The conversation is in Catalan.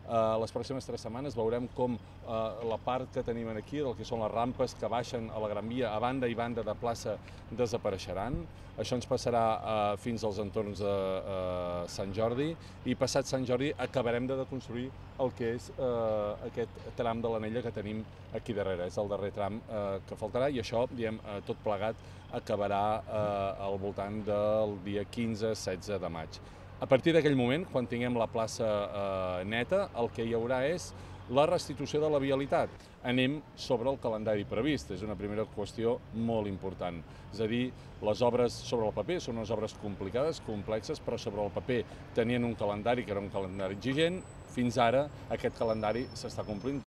les pròximes 3 setmanes veurem com la part que tenim aquí, del que són les rampes que baixen a la Gran Via, a banda i banda de plaça, desapareixeran. Això ens passarà fins als entorns de Sant Jordi, i passat Sant Jordi acabarem de construir el que és aquest tram de l'Anella que tenim aquí darrere. És el darrer tram que faltarà, i això, diguem, tot plegat acabarà al voltant del dia 15-16 de maig. A partir d'aquell moment, quan tinguem la plaça neta, el que hi haurà és la restitució de la vialitat. Anem sobre el calendari previst, és una primera qüestió molt important. És a dir, les obres sobre el paper són unes obres complicades, complexes, però sobre el paper tenien un calendari que era un calendari exigent. Fins ara aquest calendari s'està complint.